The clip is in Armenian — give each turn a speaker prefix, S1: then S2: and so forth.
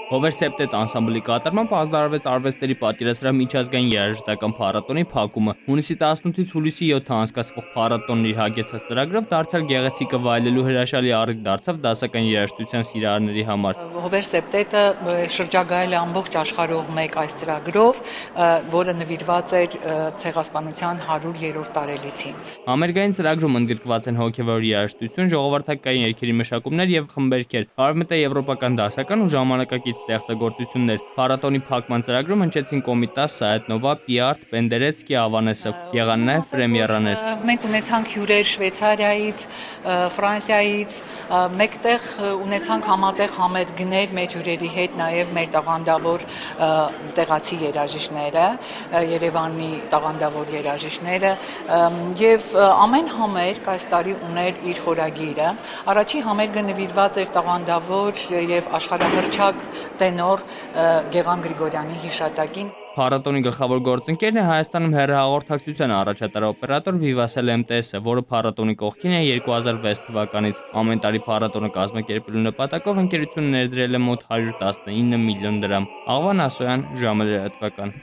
S1: Հովեր Սեպտետ անսամբլի կատարմամբ ազդարարվեց արվեստների պատկերասրահ միջազգային երաժշտական փառատոնի փակումը։ Հունիսի 18-ից հուլիսի 7-ը անցկացվող փառատոնն իր հագեցած ծրագրով դարձյալ գեղեցիկը վայելելու հրաշալի առիթ դարձավ դասական երաժշտության սիրահարների համար։
S2: Հովեր Սեպտետը շրջագայել է ամբողջ աշխարհով մեկ այս ծրագրով, որը նվիրված էր ցեղասպանության 100-րդ տարելիցին։
S1: Համերգային ծրագրում ընդգրկված են հոգևոր երաժշտություն, ժողովրդական երգերի մշակումներ եւ խմբերքեր, արևմտաեվրոպական դասական ու ժամանակակից ստեղծագործություններ։ Փառատոնի փակման ծրագրում հնչեցին Կոմիտաս, Սայեթնովա, Պիարտ, Պենդերեցկի, Ավանեսով, եղան նաեւ պրեմիերաներ։
S2: Մենք ունեցանք հյուրեր Շվեյցարիայից, Ֆրանսիայից, մեկտեղ ունեցանք համատեղ համերգներ մեր հյուրերի հետ, նաև մեր տաղանդավոր տեղացի երաժիշտները, Երևանի տաղանդավոր երաժիշտները, եւ ամեն համերգ այս տարի ուներ իր խորագիրը։ Առաջին համերգը նվիրված էր տաղանդավոր եւ աշխարհահռչակ տենոր Գեղամ Գրիգորյանի հիշատակին։
S1: Փառատոնի գլխավոր գործընկերն է Հայաստանում հեռահաղորդակցության առաջատար օպերատոր Vivatel MTS-ը, որը փառատոնի կողքին է 2006 թվականից։ Ամեն տարի փառատոնը կազմակերպելու նպատակով ընկերությունը ներդրել է մոտ 119 միլիոն դրամ։ Աղվան Ասոյան, ժամը լրատվական։